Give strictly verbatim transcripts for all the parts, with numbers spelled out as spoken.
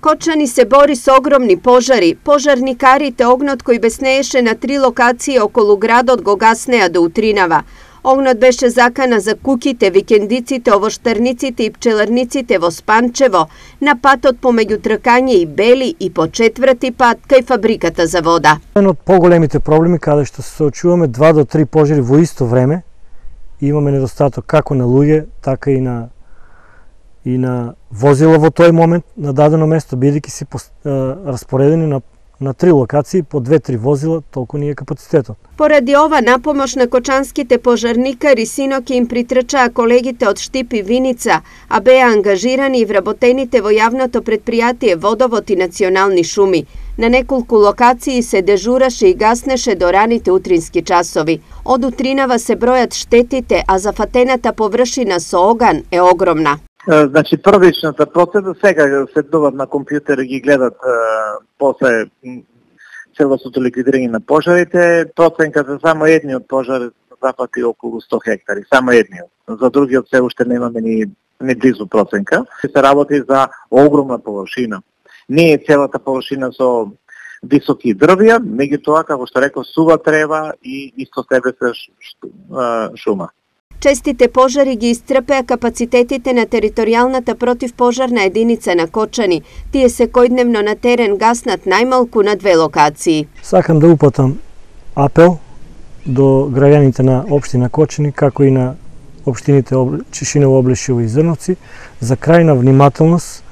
Кочани се бори со огромни пожари. Пожарникарите огнот кој беснееше на три локации околу градот го гаснеа до утринава. Огнот беше закана за куќите, викендиците, овоштарниците и пчеларниците во Спанчево, на патот помеѓу Тркање и Бели и по четврти пат кај фабриката за вода. Еден од поголемите проблеми каде што се соочуваме два до три пожари во исто време, имаме недостаток како на луѓе, така и на и на возила во тој момент на дадено место, бидејќи се распоредени на на три локации по две-три возила, толку ни е капацитетот. Поради ова напомош на кочанските пожарникари синоќ им притрчаа колегите од Штип и Виница, а беа ангажирани и вработените во јавното предпријатие Водовод и Национални шуми. На неколку локации се дежураше и гаснеше до раните утрински часови. Од утринава се бројат штетите, а зафатената површина со оган е огромна. Значи, првичната процедура, сега седнуваат на компјутер и ги гледат е, после целосното ликвидирање на пожарите. Проценка за само едниот пожар зафати околу сто хектари, само едниот. За другиот се уште немаме ни, ни близу проценка. Се работи за огромна површина. Не е целата површина со високи дрвја, меѓутоа, како што реков, сува трева и исто себе се шума. Честите пожари ги исцрпеа капацитетите на територијалната противпожарна единица на Кочани. Тие секојдневно на терен гаснат најмалку на две локации. Сакам да упатам апел до граѓаните на општина Кочани, како и на општините Чешиново, Облешево и Зрновци, за крајна внимателност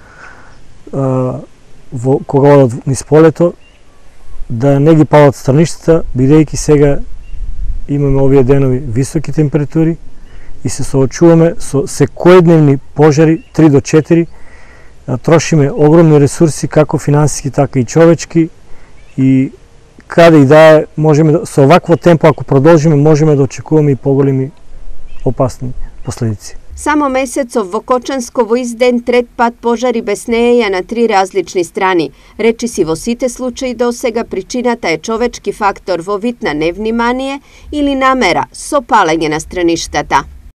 во кога одат низ полето, да не ги палат страништата, бидејќи сега имаме овие денови високи температури и се соочуваме со секојдневни пожари три до четири, трошиме огромни ресурси, како финансиски, така и човечки, и каде и да е, можеме да, со овакво темпо, ако продолжиме, можеме да очекуваме и поголеми опасни последици. Само месецов во Кочанско во изден трет пат пожари беснееја на три различни страни. Речиси во сите случаи до сега причината е човечки фактор во вид на невнимание или намера со палење на страништата.